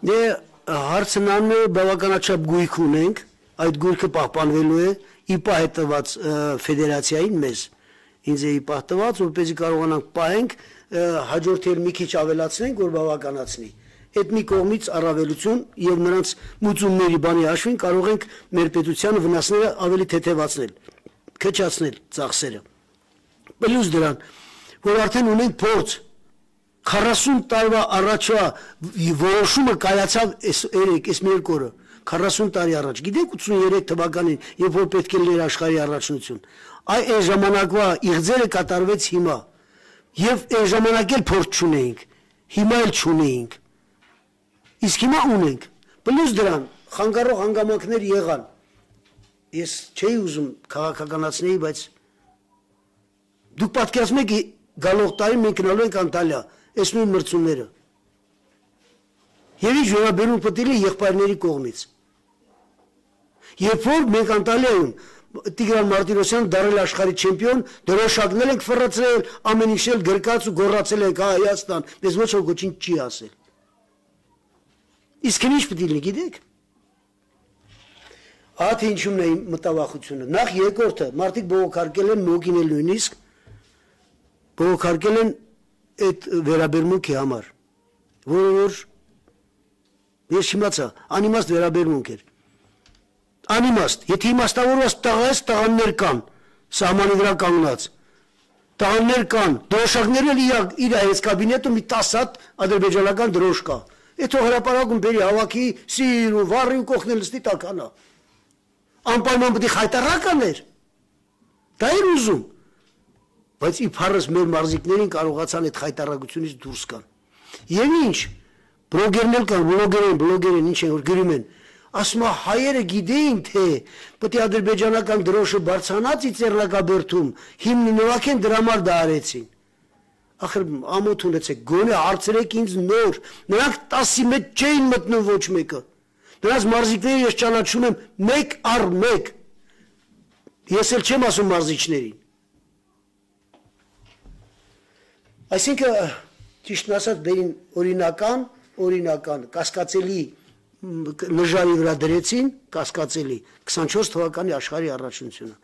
Հարցն անում է բավականաչափ գույք ունենք, այդ գույքը պահպանվելու է ԻՊԱ հետված ֆեդերացիային մեզ, ինձ է ԻՊԱ տված, որպեսզի կարողանանք պահենք, հաջորդել մի քիչ ավելացնենք, որ բավականացնի։ Այդ մի կողմից առավելություն եւ նրանց մուծումների բանի հաշվին կարող ենք մեր պետությանը վնասները ավելի թեթևացնել, քչացնել ծախսերը։ Պլյուս դրան, որ արդեն ունենք փորձ 40 տարվա առաջվա որոշումը կայացավ այս մի երկու օրը 40 տարի առաջ գիտեք 83 թվականին երբ որ պետք է լիներ աշխարհի առաջնություն այն ժամանակվա իղձերը կատարվեց հիմա եւ այն ժամանակ էլ փորձ չունեինք հիմա էլ չունեինք իսկ հիմա ունենք պլյուս դրան խանգարող հանգամանքներ եղան ես չէի ուզում քաղաքականացնել բայց դուք պատկերացնում եք գալող տարի մենք գնալու ենք Անտալիա այս նույն մրցումները եւ ինչ վերաբերում պետք է եղբայրների կողմից երբ որ մենք Անտալիայում Տիգրան Մարտիրոսյանը դարել աշխարհի չեմպիոն դրոշակներ ենք ֆռացրել ամեն ինչ էլ գրկած ու գոռացել ենք Հայաստան մեզ ոչ ոք ոչինչ չի ասել իսկ ինչ պետք է լինի գիտեք ահա թե ինչումն է մտավախությունը նախ երկրորդը մարդիկ բողոքարկել են մոգին էլ նույնիսկ բողոքարկել են այդ վերաբերմունքի համար որը որ ես չիմացա անիմաստ վերաբերմունք էր անիմաստ եթե իմաստավորված տղաս տղաներ կան սահմանի վրա կանգնած տղաներ կան դրոշակներ էլ իր այս կաբինետում մի 10 հատ ադրբեջանական դրոշ կա այդ հրապարակում բերի հավաքի սիր ու վառի ու կողնել ստի տականա անպայման պետք է խայտարականներ դա էր ուզում բայց իբարս մեր մարզիկներին կարողացան այդ խայտարակությունից դուրս գան եւ ինչ բլոգերներ կան բլոգերեն ինչ են որ գրում են ասում հայերը գիտեին թե պետք է ադրբեջանական դրոշը բարձրանացի Ծեռնակաբերդում հիմնի նվագեն դրա համար դա արեցին ախր ամոթ ունեցեք գոնե հարցրեք ինձ նոր նրանք 10-ի մեջ չէին մտնում ոչ մեկը նրանց մարզիկները ես ճանաչում եմ մեկ առ մեկ ես էլ չեմ ասում մարզիչներին այսինքն ճիշտն ասած բերին օրինական կասկածելի նժարի վրա դրեցին կասկածելի 24 թվականի աշխարհի առաջնությունը